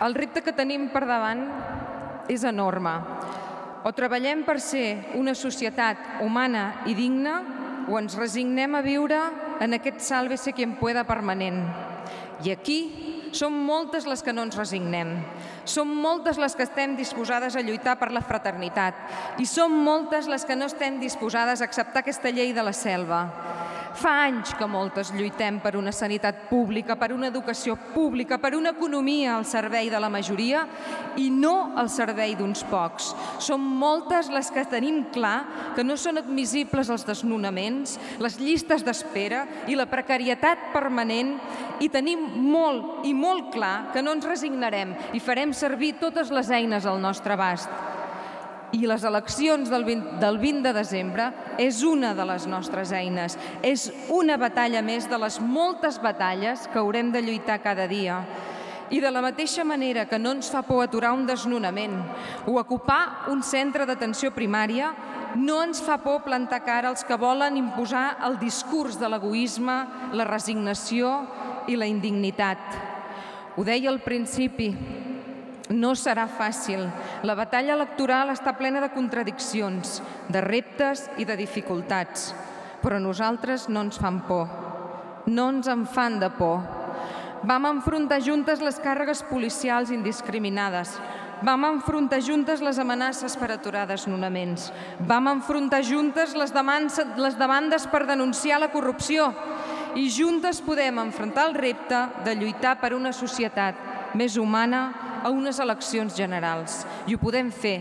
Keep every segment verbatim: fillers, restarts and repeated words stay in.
El repte que tenim per davant és enorme. O treballem per ser una societat humana i digna, o ens resignem a viure en aquest sálvese quien pueda permanent. I aquí som moltes les que no ens resignem. Som moltes les que estem disposades a lluitar per la fraternitat i som moltes les que no estem disposades a acceptar aquesta llei de la selva. Fa anys que moltes lluitem per una sanitat pública, per una educació pública, per una economia al servei de la majoria i no al servei d'uns pocs. Som moltes les que tenim clar que no són admissibles els desnonaments, les llistes d'espera i la precarietat permanent i tenim molt i molt clar que no ens resignarem i farem servir totes les eines al nostre abast. I les eleccions del vint de desembre és una de les nostres eines. És una batalla més de les moltes batalles que haurem de lluitar cada dia. I de la mateixa manera que no ens fa por aturar un desnonament o ocupar un centre d'atenció primària, no ens fa por plantar cara als que volen imposar el discurs de l'egoisme, la resignació i la indignitat. Ho deia al principi, no serà fàcil. La batalla electoral està plena de contradiccions, de reptes i de dificultats. Però a nosaltres no ens fan por. No ens en fan de por. Vam enfrontar juntes les càrregues policials indiscriminades. Vam enfrontar juntes les amenaces per aturar desnonaments. Vam enfrontar juntes les demandes per denunciar la corrupció. I juntes podem enfrontar el repte de lluitar per una societat més humana a unes eleccions generals. I ho podem fer,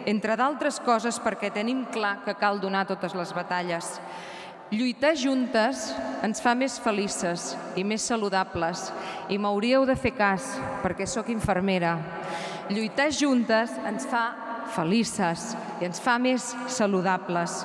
entre d'altres coses, perquè tenim clar que cal donar totes les batalles. Lluitar juntes ens fa més felices i més saludables. I m'hauríeu de fer cas, perquè sóc infermera. Lluitar juntes ens fa felices i ens fa més saludables.